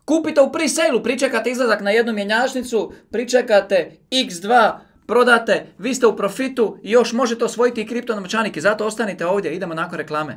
Kupite u pre-sale-u, pričekate izlazak na jednu mjenjačnicu, pričekate X2, prodate, vi ste u profitu i još možete osvojiti i kripto novčanik. I zato ostanite ovdje, idemo nakon reklame.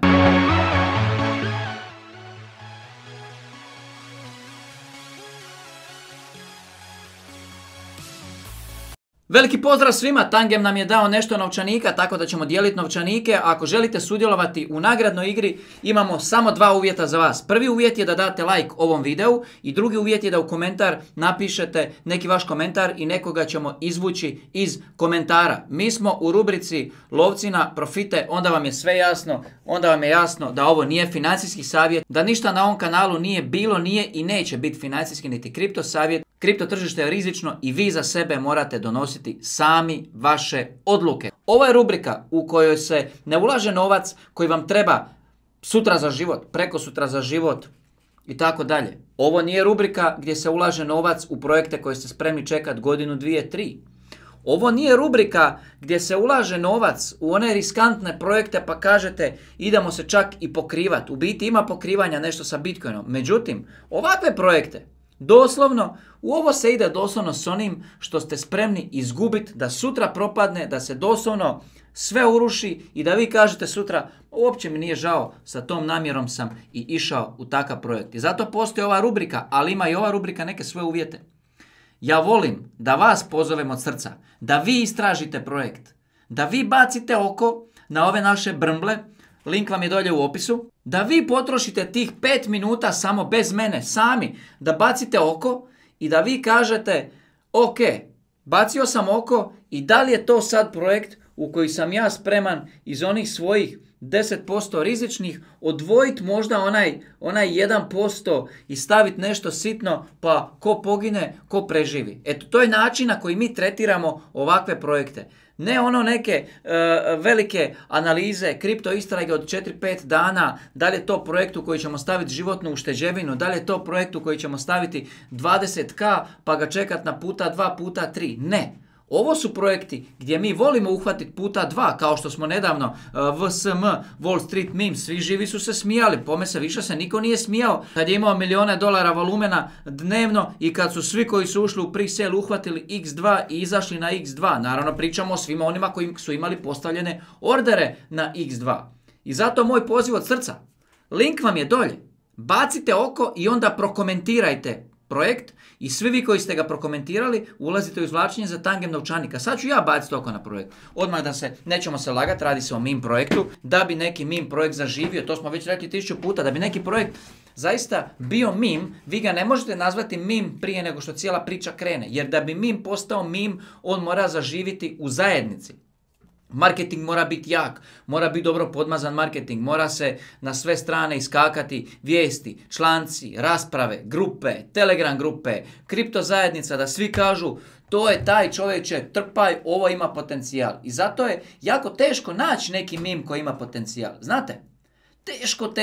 Veliki pozdrav svima, Tangem nam je dao nešto novčanika, tako da ćemo dijeliti novčanike. Ako želite sudjelovati u nagradnoj igri, imamo samo dva uvjeta za vas. Prvi uvjet je da date like ovom videu i drugi uvjet je da u komentar napišete neki vaš komentar i nekoga ćemo izvući iz komentara. Mi smo u rubrici Lovci na profite, onda vam je sve jasno, onda vam je jasno da ovo nije financijski savjet, da ništa na ovom kanalu nije bilo, nije i neće biti financijski niti kripto savjet. Kripto tržište je rizično i vi za sebe morate donositi sami vaše odluke. Ovo je rubrika u kojoj se ne ulaže novac koji vam treba sutra za život, prekosutra za život i tako dalje. Ovo nije rubrika gdje se ulaže novac u projekte koje ste spremni čekati godinu, dvije, tri. Ovo nije rubrika gdje se ulaže novac u one riskantne projekte pa kažete idemo se čak i pokrivati. U biti ima pokrivanja nešto sa Bitcoinom. Međutim, ovakve projekte, doslovno, u ovo se ide doslovno s onim što ste spremni izgubiti, da sutra propadne, da se doslovno sve uruši i da vi kažete sutra uopće mi nije žao, sa tom namjerom sam i išao u takav projekt. I zato postoji ova rubrika, ali ima i ova rubrika neke svoje uvjete. Ja volim da vas pozovem od srca, da vi istražite projekt, da vi bacite oko na ove naše brmble, link vam je dolje u opisu, da vi potrošite tih 5 minuta samo bez mene, sami, da bacite oko i da vi kažete ok, bacio sam oko i da li je to sad projekt u koji sam ja spreman iz onih svojih 10% rizičnih odvojiti možda onaj 1% i staviti nešto sitno pa ko pogine, ko preživi. Eto, to je način na koji mi tretiramo ovakve projekte. Ne ono neke velike analize, kripto istrage od 4-5 dana, da li je to projekt u koji ćemo staviti životnu ušteđevinu, da li je to projekt u koji ćemo staviti 20k pa ga čekati na puta 2, puta 3. Ne. Ovo su projekti gdje mi volimo uhvatiti puta 2, kao što smo nedavno VSM, Wall Street Meme, svi živi su se smijali, pome se više se niko nije smijao kad je imao milijone dolara volumena dnevno i kad su svi koji su ušli u pre-sale uhvatili X2 i izašli na X2. Naravno pričamo o svima onima koji su imali postavljene ordere na X2. I zato moj poziv od srca, link vam je dolje, bacite oko i onda prokomentirajte projekt i svi vi koji ste ga prokomentirali ulazite u izvlačenje za Tangem novčanika. Sad ću ja baciti oko na projekt. Odmah da se, nećemo se lagati, radi se o meme projektu. Da bi neki meme projekt zaživio, to smo već rekli 1000 puta, da bi neki projekt zaista bio meme, vi ga ne možete nazvati meme prije nego što cijela priča krene. Jer da bi meme postao meme, on mora zaživiti u zajednici. Marketing mora biti jak, mora biti dobro podmazan marketing, mora se na sve strane iskakati vijesti, članci, rasprave, grupe, telegram grupe, kripto zajednica, da svi kažu to je taj čovječe, trpaj, ovo ima potencijal. I zato je jako teško naći neki meme koji ima potencijal. Znate? Teško.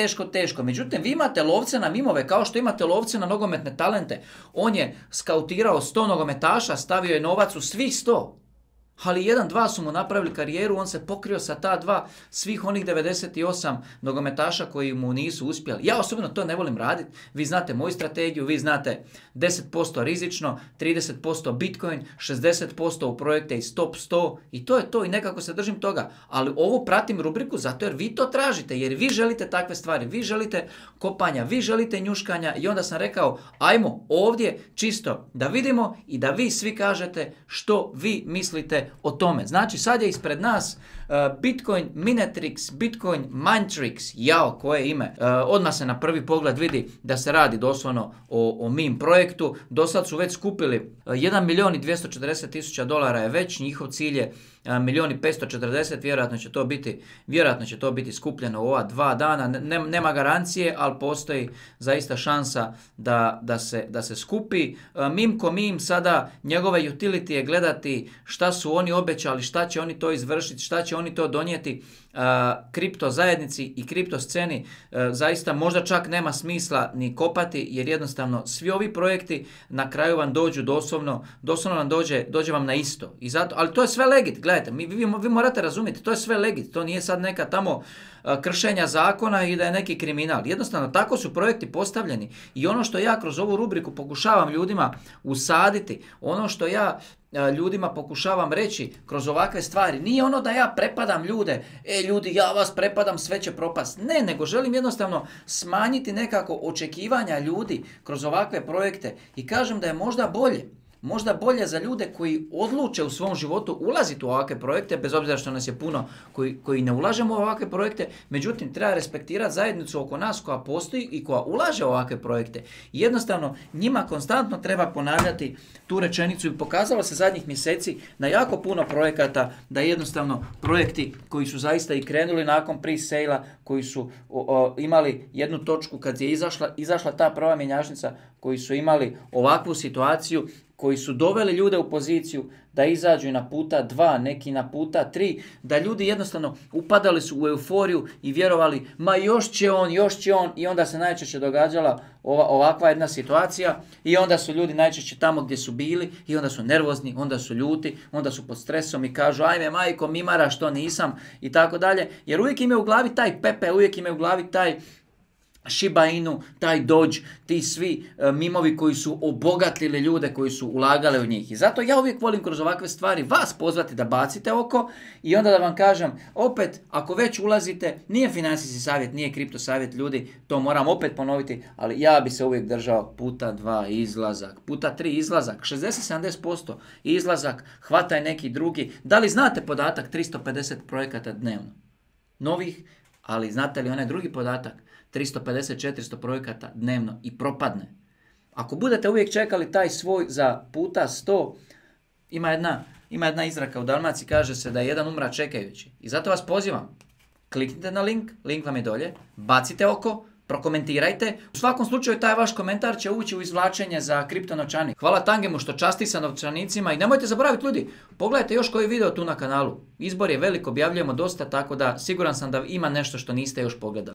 Međutim, vi imate lovce na mimove kao što imate lovce na nogometne talente. On je skautirao 100 nogometaša, stavio je novac u svih 100. Ali 1-2 su mu napravili karijeru, on se pokrio sa ta 2 svih onih 98 nogometaša koji mu nisu uspjeli. Ja osobno to ne volim raditi, vi znate moju strategiju, vi znate 10% rizično, 30% Bitcoin, 60% u projekte iz top 100 i to je to i nekako se držim toga. Ali ovo pratim rubriku zato jer vi to tražite, jer vi želite takve stvari, vi želite kopanja, vi želite njuškanja i onda sam rekao ajmo ovdje čisto da vidimo i da vi svi kažete što vi mislite o tome. Znači sad je ispred nas Bitcoin Minetrix, Bitcoin Mindtrix, jao koje ime. Odmah se na prvi pogled vidi da se radi doslovno o meme projektu. Do sad su već skupili 1.240.000 dolara je već, njihov cilj je 1.540.000, vjerojatno će to biti skupljeno u ova 2 dana. Nema garancije, ali postoji zaista šansa da se skupi. Meme ko meme sada njegove utility je gledati šta su oni obećali, šta će oni to izvršiti, šta će oni to donijeti kripto zajednici i kripto sceni. Zaista možda čak nema smisla ni kopati jer jednostavno svi ovi projekti na kraju vam dođu doslovno vam dođe vam na isto. I zato, ali to je sve legit, gledajte, vi morate razumjeti, to je sve legit, to nije sad neka tamo kršenja zakona i da je neki kriminal. Jednostavno, tako su projekti postavljeni. I ono što ja kroz ovu rubriku pokušavam ljudima usaditi, ono što ja ljudima pokušavam reći kroz ovakve stvari, nije ono da ja prepadam ljude, ljudi, ja vas prepadam, sve će propast. Ne, nego želim jednostavno smanjiti nekako očekivanja ljudi kroz ovakve projekte i kažem da je možda bolje za ljude koji odluče u svom životu ulaziti u ovakve projekte, bez obzira što nas je puno koji ne ulažemo u ovakve projekte, međutim treba respektirati zajednicu oko nas koja postoji i koja ulaže u ovakve projekte. I jednostavno njima konstantno treba ponavljati tu rečenicu i pokazalo se zadnjih mjeseci na jako puno projekata da jednostavno projekti koji su zaista i krenuli nakon pre-sale-a, koji su imali jednu točku kad je izašla ta prva mjenjačnica, koji su imali ovakvu situaciju, koji su doveli ljude u poziciju da izađu na puta 2, neki na puta 3, da ljudi jednostavno upadali su u euforiju i vjerovali, ma još će on, i onda se najčešće događala ovakva jedna situacija i onda su ljudi najčešće tamo gdje su bili i onda su nervozni, onda su ljuti, onda su pod stresom i kažu, ajme majko, mimara što nisam i tako dalje, jer uvijek imaju u glavi taj Pepe, uvijek imaju u glavi taj Shiba Inu, taj Doge, ti svi mimovi koji su obogatili ljude koji su ulagali u njih. I zato ja uvijek volim kroz ovakve stvari vas pozvati da bacite oko i onda da vam kažem, opet, ako već ulazite, nije financijski savjet, nije kripto savjet ljudi, to moram opet ponoviti, ali ja bi se uvijek držao puta 2 izlazak, puta 3 izlazak, 60-70% izlazak, hvataj neki drugi. Da li znate podatak 350 projekata dnevno? Novih, ali znate li onaj drugi podatak? 350-400 projekata dnevno i propadne. Ako budete uvijek čekali taj svoj za puta 100, ima jedna izraka u Dalmaciji, kaže se da je jedan umra čekajući. I zato vas pozivam, kliknite na link vam je dolje, bacite oko, prokomentirajte. U svakom slučaju taj vaš komentar će ući u izvlačenje za kripto novčanik. Hvala Tangemu što časti sa novčanicima i nemojte zaboraviti ljudi, pogledajte još koji video tu na kanalu. Izbor je velik, objavljujemo dosta, tako da siguran sam da ima nešto što niste još pogledali.